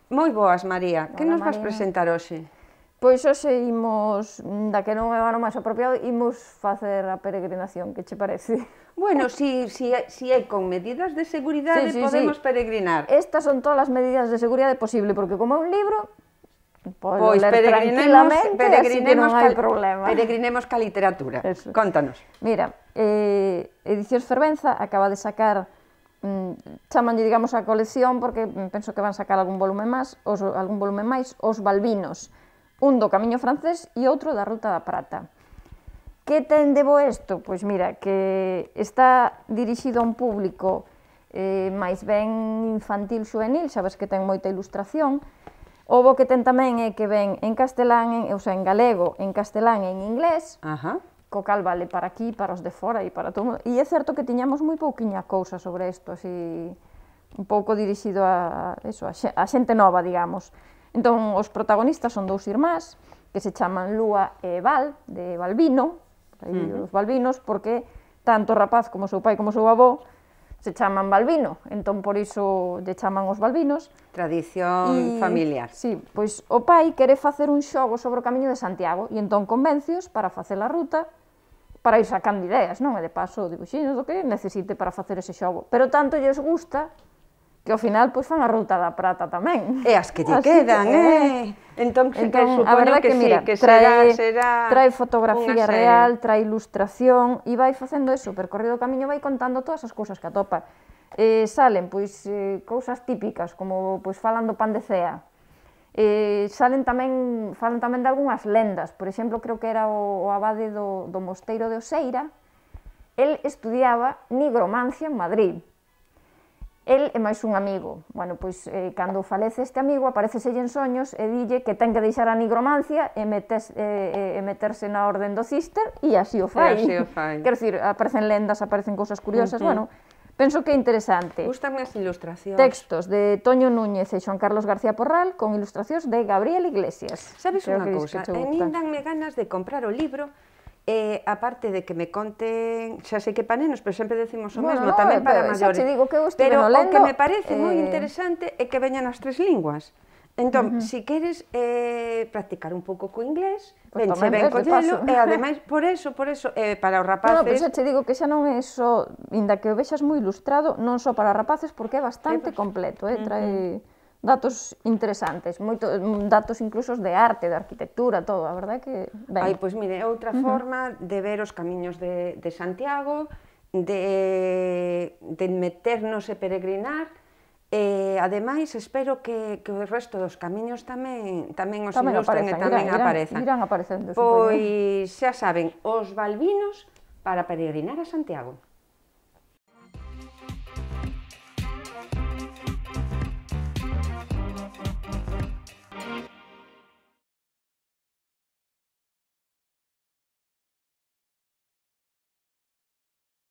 Moi boas, María. Que Hola, nos vas Marina. presentar hoxe? Pois hoxe imos, da que non é o ano máis apropiado, imos facer a peregrinación, que che parece? Bueno, si é con medidas de seguridade, podemos peregrinar. Estas son todas as medidas de seguridade posible, porque como é un libro, pode Pois ler tranquilamente, así que non hai problema. Peregrinemos ca literatura. Eso. Contanos. Mira, Edicións Fervenza acaba de sacar, chamanlle, digamos, a colección, porque penso que van sacar algún volume máis, Os Balbinos, un do Camiño Francés e outro da Ruta da Prata. Que ten de bo isto? Pois mira, que está dirixido a un público máis ben infantil xuvenil, sabes que ten moita ilustración. O bo que ten tamén é que ven en castelán, o sea, en galego, en castelán e en inglés, co cal vale para aquí, para os de fora e para todo. E é certo que tiñamos moi pouquiña cousa sobre isto, así, un pouco dirixido a xente nova, digamos. Entón, os protagonistas son dous irmás, que se chaman Lúa e Val, de Balbino, os Balbinos, porque tanto o rapaz como o seu pai como o seu avó se chaman Balbino, entón por iso lle chaman os Balbinos. Tradición familiar. Sí, pois o pai quere facer un xogo sobre o Camiño de Santiago e entón convéncios para facer a ruta, para ir sacando ideas, non? E de paso dibuxiños do que necesite para facer ese xogo. Pero tanto lles gusta que ao final pois fan a Ruta da Prata tamén. E as que lle quedan, Entón, a verdade que, mira, que será trae fotografía real, trae ilustración e vai facendo eso, percorrido o camiño, vai contando todas as cousas que atopa. Salen, pois, cousas típicas, como, pois, falan do pan de cea. Falan tamén de algunhas lendas, por exemplo, creo que era o abade do mosteiro de Oseira, el estudiaba nigromancia en Madrid. El e máis un amigo. Bueno, pois, cando falece este amigo, apareceselle en soños e dille que ten que deixar a nigromancia e meterse na orden do Cister e así o fai. Quero dicir, aparecen lendas, aparecen cousas curiosas, bueno, penso que é interesante. Gústame as ilustracións. Textos de Toño Núñez e Xoan Carlos García Porral con ilustracións de Gabriel Iglesias. Sabes unha cousa? A min danme ganas de comprar o libro, aparte de que me conten, xa sei que para nenos, pero sempre decimos o mesmo, tamén para maiores. Pero o que me parece moi interesante é que veñan as tres linguas. Entón, se queres practicar un pouco co inglés, venche ben collelo, e ademais, por eso, para os rapaces... Pero xa te digo que xa non é só, inda que o vexas moi ilustrado, non só para rapaces, porque é bastante completo, trae datos interesantes, datos incluso de arte, de arquitectura, todo, a verdade que ben. Pois mire, outra forma de ver os camiños de Santiago, de meternos e peregrinar, ademais, espero que o resto dos camiños tamén os ilustren e tamén aparezan. Irán aparecendo. Pois xa saben, os Balbinos para peregrinar a Santiago.